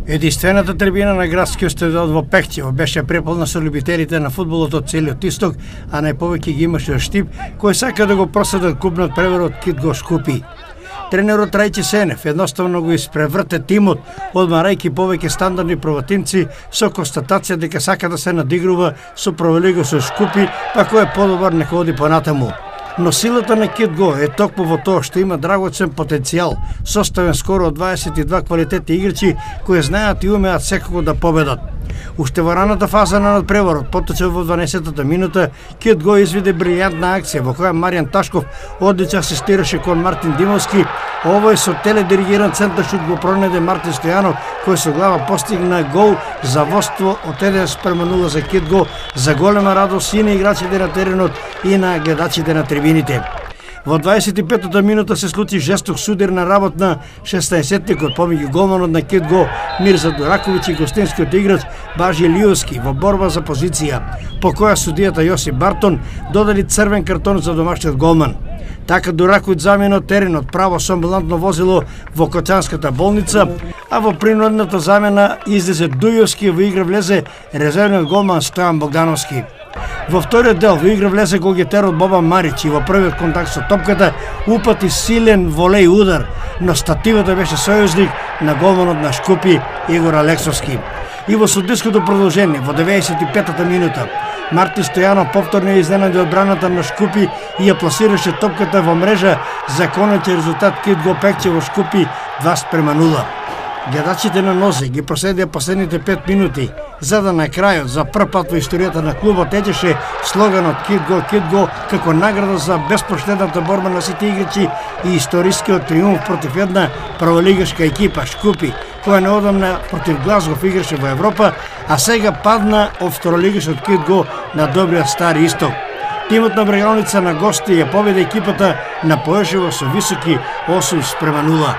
Единствената трибина на градскиот стадион во Пехтево беше преполна со љубителите на фудбалот од целиот исток, а најповеќе ги имаше Штип, кој сака да го проследат клубниот преворот Кит Го Шкупи. Тренерот Рајче Сенев едноставно го испреврте тимот, одмарајќи повеќе стандардни проватимци со констатација дека сака да се надигрува со Провалиго со Шкупи, па кој е подобар нека оди понатаму. Но силата на Кит Го е токму во тоа што има драгоцен потенцијал, составен скоро од 22 квалитетни играчи кои знаат и умеат секако да победат. Уште во раната фаза на надпреворот, поточен во 12-та минута, Кит Го изведе брилјантна акција во која Маријан Ташков одлично асистираше кон Мартин Димовски. Овој со теледиригиран центар шут го пронеде Мартин Стојанов, кој со глава постигна гол за водство од 1:0 за Кит Го, за голема радост и на играчите на теренот и на гледачите на трибините. Во 25-та минута се случи жесток судир на работ на 16-тикот помеѓу голманот на Кит Го Мирза Дураковиќ и гостинскиот играч Бажи Лиовски во борба за позиција, по која судијата Јосип Бартон додели црвен картон за домашниот голман. Така Дураковиќ замена теренот право со амбулантно возило во Кочанската болница, а во принудната замена излезе Дујовски, во игра влезе резервниот голман Стојан Богдановски. Во вториот дел во игра влезе голгетерот Бобан Марич и во првиот контакт со топката упати силен волеј удар, но стативата беше сојузник на голманот на Шкупи Игор Алексовски. И во судиското продолжение во 95-та минута Мартин Стојанов повторно изненади одбраната на Шкупи и ја пласираше топката во мрежа за конечен резултат Кит Го Пехтево Шкупи 2:0. Гледачите на нозе ги проследија последните 5 минути, за да на крајот за прв пат во историјата на клубот течеше слоганот Кит Го како награда за безпоштедната борба на сите играчи и историскиот триумф против една праволигашка екипа Шкупи, која неодамна против Глазгов играше во Европа, а сега падна од второлигашот Кит Го на добриот Стари Исток. Тимот на Брегалница на гости ја победи екипата на Поешево со високи 8:0.